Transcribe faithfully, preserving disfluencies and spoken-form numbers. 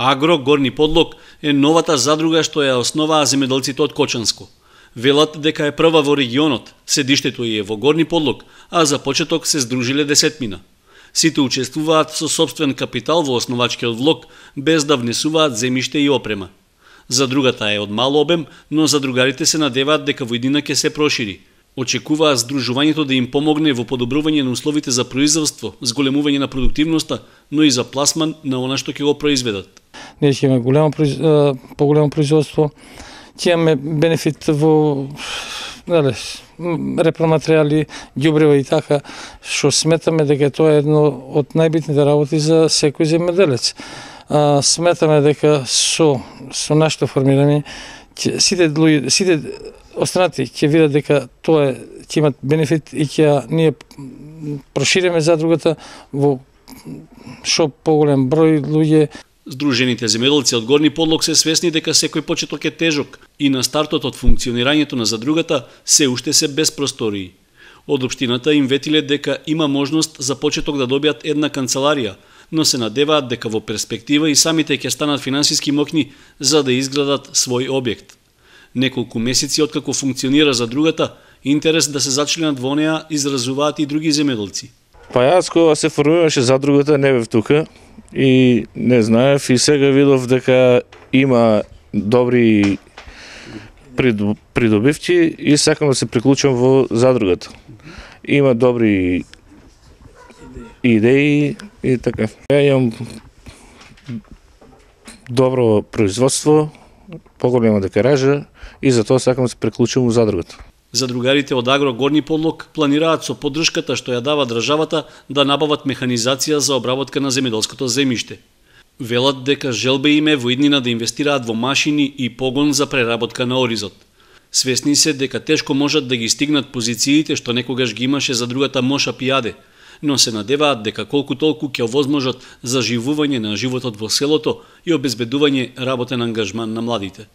Агро Горни Подлог е новата задруга што ја основаа земјоделците од Кочанско. Велат дека е прва во регионот, седиштето е во Горни Подлог, а за почеток се здружиле десетмина. Сите учествуваат со сопствен капитал во основачкиот влог, без да внесуваат земјиште и опрема. Задругата е од мал обем, но задругарите се надеваат дека во иднина ќе се прошири. Очекуваат здружувањето да им помогне во подобрување на условите за производство, зголемување на продуктивноста, но и за пласман на она што ќе го произведат. Ние ќе имаме големо, поголемо производство, ќе имаме бенефит во нели, репроматеријали, ѓубрева и така, што сметаме дека тоа е едно од најбитните работи за секој земјоделец. А, сметаме дека со со нашето формирање сите луѓе, сите останати ќе видат дека тоа ќе имат бенефит и ќе ние прошириме задругата во што поголем број луѓе. Здружените земјоделци од Горни Подлог се свесни дека секој почеток е тежок и на стартот од функционирањето на задругата се уште се без простории. Од општината им ветиле дека има можност за почеток да добијат една канцеларија, но се надеваат дека во перспектива и самите ќе станат финансиски мокни за да изградат свој објект. Неколку месеци откако функционира задругата, интерес да се зачленат во неа изразуваат и други земјоделци. Па јас кога се формираше задругата не бев тука и не знаев и сега видов дека има добри придобивки и сакам да се приклучам во задругата. Има добри идеи и така. Ја имам добро производство, поголема декаража и затоа сакам да се приклучам во задругата. Задругарите од Агро Горни Подлог планираат со поддршката што ја дава државата да набават механизација за обработка на земјоделското земјиште. Велат дека желбе им е во иднина да инвестираат во машини и погон за преработка на оризот. Свесни се дека тешко можат да ги стигнат позициите што некогаш ги имаше задругата Моша Пијаде, но се надеваат дека колку толку ќе овозможат заживување на животот во селото и обезбедување работен ангажман на младите.